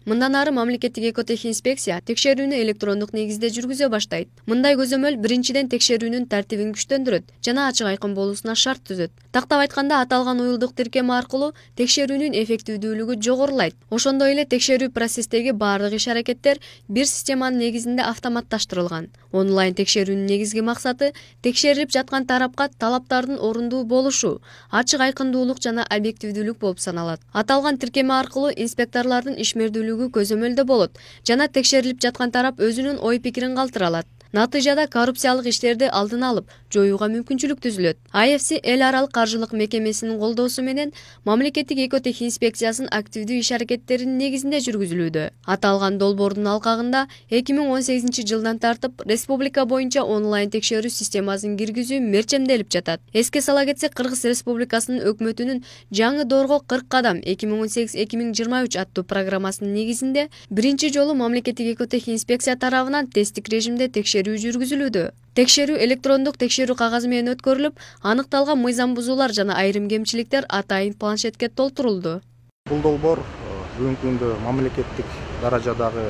Мындан ары мамлекеттик экотехинспекция текшерүүнү электрондук негизде жүргүзө баштайт. Мындай көзөмөл биринчиден текшерүүнүн тартибин күчтөндүрөт жана ачык айкын болуусуна шарт түзөт. Тактап айтканда, аталган уюлдук тиркеме аркылуу текшерүүнүн эффективдүүлүгү жогорулайт. Ошондой эле текшерүү процесстеги бардык иш-аракеттер бир системанын негизинде автоматташтырылган. Онлайн текшерүүнүн негизги максаты текшерилип жаткан тарапка талаптардын орундуу болушу, ачык айкындуулук жана объективдүүлүк болуп саналат. Аталган тиркеме аркылуу инспекторлордун ишмердүүлүгү көзөмөлдө болот жана текшерилип жаткан тарап өзүнүн ой-пикирин калтыра алат. Натыйжада коррупциялык иштерди алдын алып, жоюуга мүмкүнчүлүк түзүлөт. IFC эл аралык каржылык мекемесинин колдоосу менен мамлекеттик экотехинспекциясынын активдүү иш-аракеттеринин негизинде жүргүзүлүүдө. Аталган долбоордун алкагында 2018 жылдан тартып республика боюнча онлайн текшерүү системасын киргизүү мерчемделип жатат. Эске сала кетсек, Кыргыз Республикасынын өкмөтүнүн жаңы доорго 40 кадам 2018-2023 аттуу программасынын негизинде биринчи жолу мамлекеттик экотехинспекция тарабынан тесттик режимде текшерүү жүргүзүлүүдө. Текшерүү электрондук текшерүү кагазы менен өткөрүлүп, аныкталган мыйзам бузуулар жана айрым кемчиликтер атайын планшетке толтурулду. Бул долбоор бүгүнкү күндө мамлекеттик даражадагы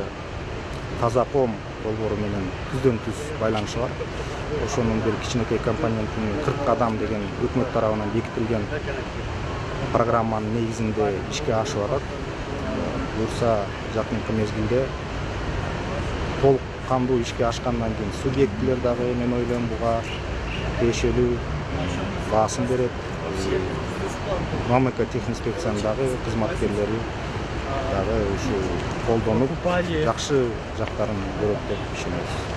таза ком долбоору менен түздөн-түз байланышы бар. Ошонун бир кичинекей компонентин 40 кадам деген өкмөт тарабынан бекитилген программанын негизинде ишке ашып атат. Буюрса жакынкы мезгилде толук кандуу ишке ашкандан кийин субъектилер дагы мен ойлойм буга тиешелүү баасын берет. Мамлекеттик техинспекциянын дагы кызматкерлери дагы ушу колдонуп жакшы жактарын көрөт деп ишенебиз.